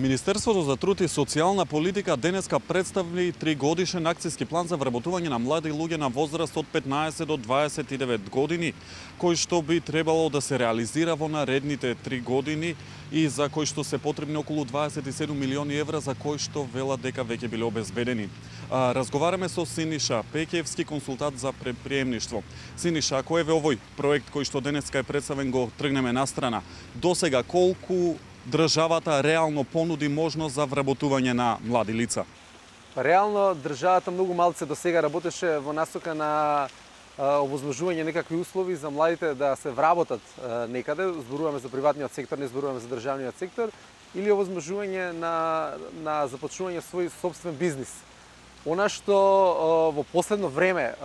Министерството за труд и социјална политика денеска представи 3-годишен акцијски план за вработување на млади луѓе на возраст од 15 до 29 години, кој што би требало да се реализира во наредните 3 години и за кој што се потребни околу 27 милиони евра, за кој што велат дека веќе биле обезбедени. Разговараме со Синиша Пеќевски, консултант за предприемништво. Синиша, ако еве овој проект кој што денеска е представен го тргнеме настрана, досега колку државата реално понуди можност за вработување на млади лица? Реално државата многу малце до сега работеше во насока на овозможување некакви услови за младите да се вработат некаде, зборуваме за приватниот сектор, не зборуваме за државниот сектор, или овозможување на започнување свој собствен бизнис. Она што во последно време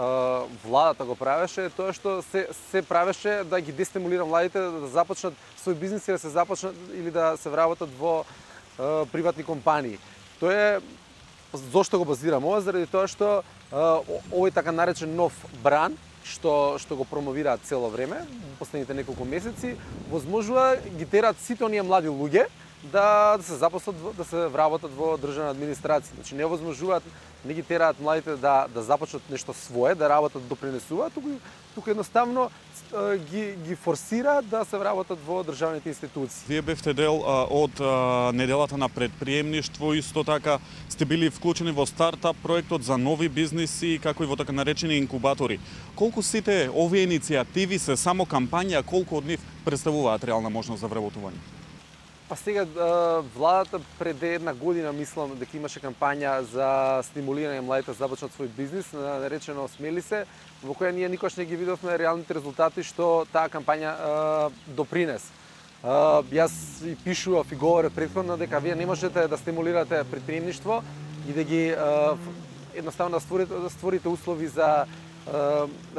владата го правеше е тоа што се правеше да ги дестимулира младите да започнат свој бизнис и да се започнат или да се вработат во приватни компании. Тоа е зошто го базирам ова, заради тоа што овој така наречен нов бран што го промовираат цело време, последните неколку месеци, возможува ги терат сите оние млади луѓе да се запослат, да се вработат во државна администрација. Значи не возможуваат, не ги тераат младите да започнат нешто свое, да работат, допринесуваат, туку едноставно ги форсира да се вработат во државните институции. Вие бевте дел од неделата на предприемништво, исто така сте били вклучени во стартап проектот за нови бизниси, како и во така наречени инкубатори. Колку сите овие иницијативи се само кампања, колку од нив представуваат реална можност за вработување? Па сега владата пред една година мислам дека имаше кампања за стимулирање младите да започнат свој бизнис, наречено Смели се, во која ние никош не ги видовме реалните резултати што таа кампања допринес. Јас и пишував и говорев претходно дека вие не можете да стимулирате предприемништво и да ги едноставно да створите услови за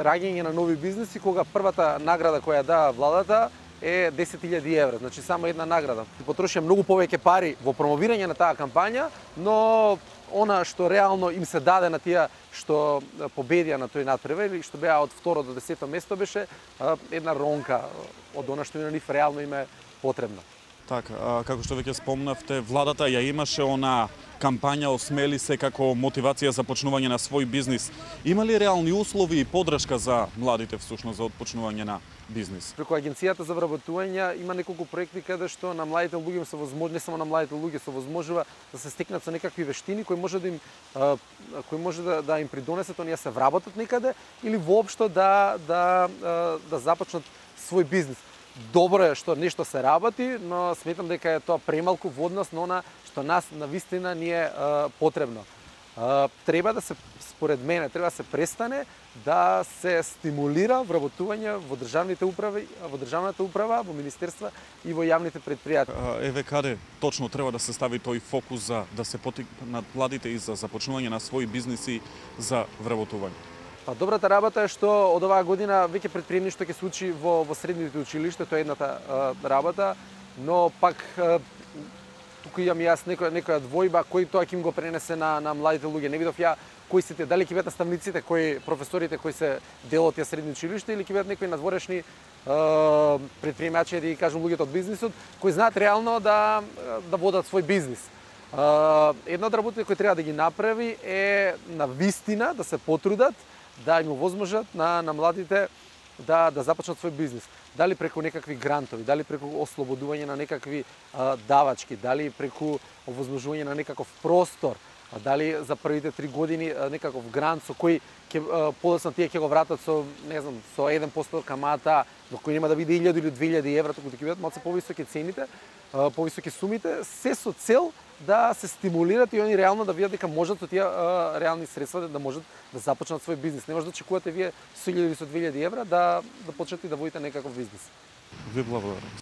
раѓање на нови бизниси, кога првата награда која дава владата е 10.000 евра, значи само една награда. Потрошија многу повеќе пари во промовирање на таа кампања, но она што реално им се даде на тие што победија на тој надпревар или што беа од 2 до 10 место беше една ронка од она што на нив реално им е потребно. Така, како што веќе спомнавте, владата ја имаше она кампања Осмели се како мотивација за почнување на свој бизнис. Има ли реални услови и подршка за младите всушност за отпочнување на бизнис? Преку агенцијата за вработување има неколку проекти каде што на младите луѓе се возможува, не само на младите луѓе се возможува да се стекнат со некакви вештини кои може да им придонесат оние се вработат некаде или воопшто да започнат свој бизнис. Добро е што нешто се работи, но сметам дека е тоа премалку во однос на она што нас навистина ни е потребно. Треба да се, според мене, треба да се престане да се стимулира вработување во државните управи, во државната управа, во министерства и во јавните предпријатија. Еве каде точно треба да се стави тој фокус за да се потикнат младите и за започнување на своји бизниси за вработување? Па добрата работа е што од оваа година веќе предприемништво ќе се учи во средните училишта, тоа е едната работа, но пак туку имам јас некоја двојба кој тоа ќе им го пренесе на младите луѓе. Не видов ја кои сите, дали ќе бидат наставниците, професорите кои се дел од тие средни училишта или ќе бидат некои надворешни предприемачи, да ги кажам луѓето од бизнисот, кои знаат реално да водат свој бизнис. Една од работите кои треба да ги направи е на вистина да се потрудат да им овозможат на младите да започнат свој бизнис. Дали преку некакви грантови, дали преку ослободување на некакви давачки, дали преку овозможување на некаков простор, дали за првите 3 години некаков грант со кој подоцна тие ќе го вратат со, не знам, со 1% камата, но кој нема да биде 1000 или 2000 евра, туку ќе бидат малку повисоки цените, повисоки сумите, се со цел да се стимулират и они реално да видат дека можат со тие реални средства да можат да започнат свој бизнис. Не може да очекувате вие со 1000 или со 2000 евра да почнете да водите некаков бизнис. Ви благодарам.